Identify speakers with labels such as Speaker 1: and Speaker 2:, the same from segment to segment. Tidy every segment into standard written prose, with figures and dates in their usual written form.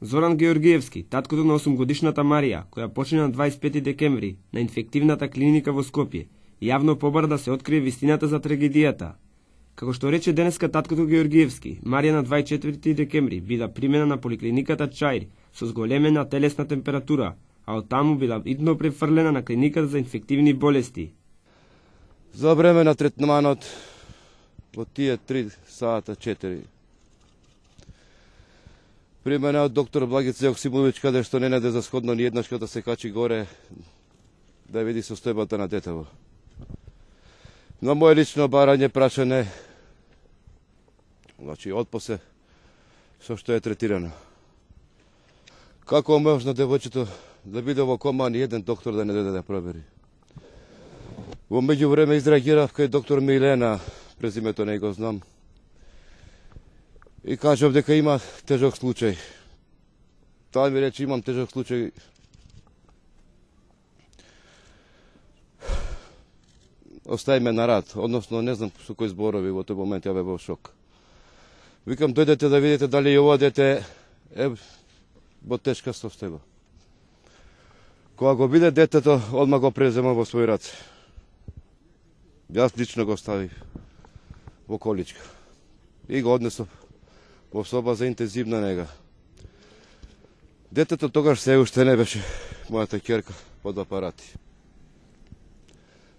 Speaker 1: Зоран Георгиевски, таткото на 8-годишната Марија, која почина на 25 декември на инфективната клиника во Скопје, јавно побара да се открие вистината за трагедијата. Како што рече денеска таткото Георгиевски, Марија на 24 декември била примена на поликлиниката Чаир со зголемена телесна температура, а од таму била идно префрлена на клиниката за инфективни болести.
Speaker 2: За време на третманот во тие 3 сата 4 примена од доктор Благица Јоксимовиќ, каде што не наде за сходно ни еднаш да се качи горе да види состојбата на детево. На моје лично барање прашање, значи отпосе со што е третирано. Како можно девојчето да биде во кома, ни еден доктор да не дојде да провери. Во меѓувреме изреагирав кај доктор Милена, презимето не го знам, и кажав дека има тежок случај. Таа ми рече имам тежок случај. Остави ме на рад, односно не знам со кој зборови во тој момент, ја бе во шок. Викам, дојдете да видите дали и ова дете е во тешка состојба. Кога го биде детето, одма го презема во свој раце. Јас лично го ставив во количка и го однесов во соба за интензивна нега. Детето тогаш се уште не беше мојата ќерка под апарати.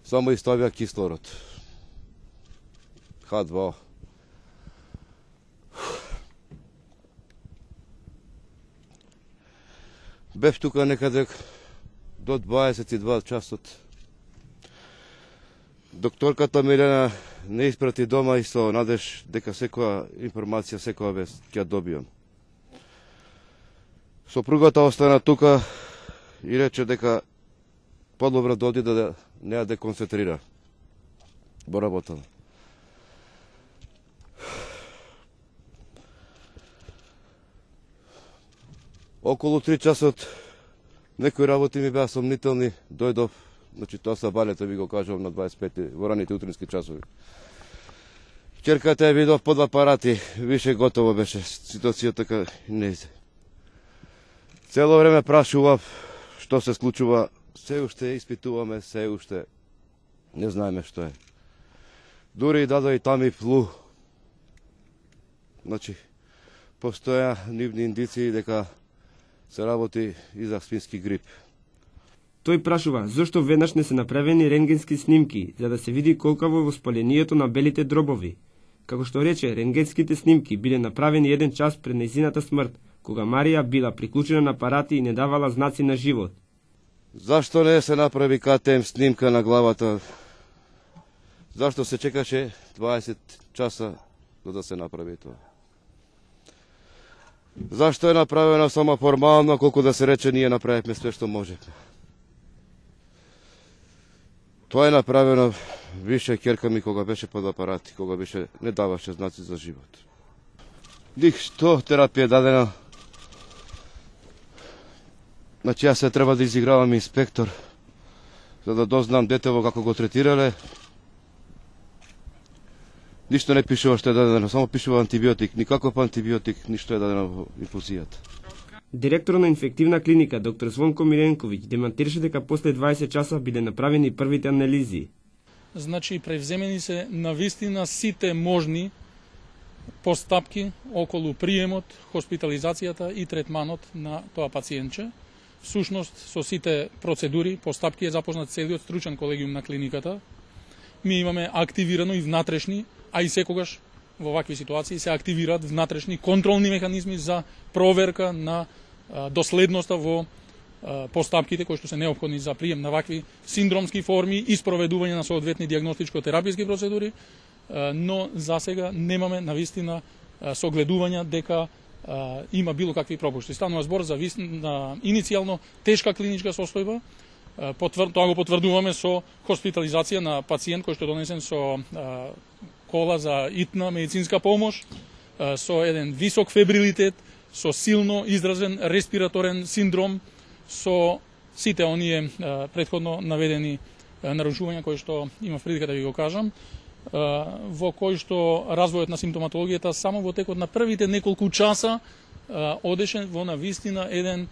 Speaker 2: Само изставија кислород. H2O. Бев тука некаде до 22 часот. Докторката Милена не испрати дома и со надеж дека секоја информација секоја вест ќе добијам. Сопругата остана тука и рече дека подобро да оди да не ја деконцентрира во работа. Околу 3 часот некои работи ми беа сомнителни, дојдов, значи тоа са балета, ви го кажувам, на 25 во раните утрински часови. Ќерката ја видов под апарати, више готово беше ситуацијата, така не иде. Цело време прашував што се случува, се уште испитуваме, се уште не знаеме што е. Дури и дадо и тами флу. Значи, постоја нивни индиции дека се работи и за свински грип.
Speaker 1: Тој прашува зошто веднаш не се направени рентгенски снимки за да се види колкаво е воспалението на белите дробови. Како што рече, рентгенските снимки биле направени 1 час пред нејзината смрт, кога Марија била приклучена на апарати и не давала знаци на живот.
Speaker 2: Зашто не се направи КТМ снимка на главата? Зашто се чекаше 20 часа за да се направи тоа? Зашто е направено само формално, колку да се рече ние направивме све што можевме? Тоа е направено више ќерка ми кога беше под апарати, кога беше не даваше знаци за живот. Ништо терапија дадена. Значи јас се треба да изигравам инспектор за да дознам детево како го третирале. Ништо не пишува што е дадено, само пишува антибиотик, никаков антибиотик, ништо е дадено во инфузијата.
Speaker 1: Директор на инфективна клиника доктор Звонко Миренковиќ демантираше дека после 20 часа биде направени првите анализи.
Speaker 3: Значи превземени се навистина сите можни постапки околу приемот, хоспитализацијата и третманот на тоа пациентче. Всушност со сите процедури, постапки е запознат целиот стручен колегиум на клиниката. Ми имаме активирано и внатрешни, а и секогаш во вакви ситуации се активираат внатрешни контролни механизми за проверка на доследноста во постапките кои што се неопходни за прием на вакви синдромски форми и спроведување на соодветни дијагностичко-тераписки процедури, но за сега немаме навистина согледувања дека има било какви пропушти. Станува збор за иницијално тешка клиничка состојба. Тоа го потврдуваме со хоспитализација на пациент кој што донесен со кола за итна медицинска помош, со еден висок фебрилитет, со силно изразен респираторен синдром, со сите оние претходно наведени нарушувања кои што имав прилика да ви го кажам. во кој што развојот на симптоматологијата само во текот на првите неколку часа одеше во навистина еден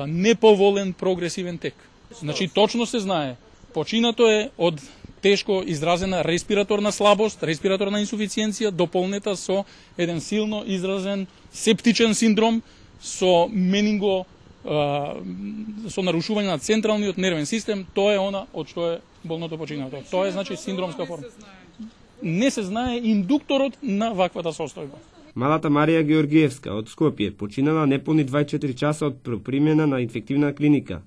Speaker 3: неповолен прогресивен тек. Значи точно се знае, починато е од тешко изразена респираторна слабост, респираторна инсуфициенција, дополнета со еден силно изразен септичен синдром, со менинго, со нарушување на централниот нервен систем. Тоа е она од што е болното починато. Тоа е значи синдромска форма. Не се знае индукторот на ваквата состојба.
Speaker 1: Малата Марија Георгиевска од Скопје починала неполни 24 часа од примена на инфективна клиника.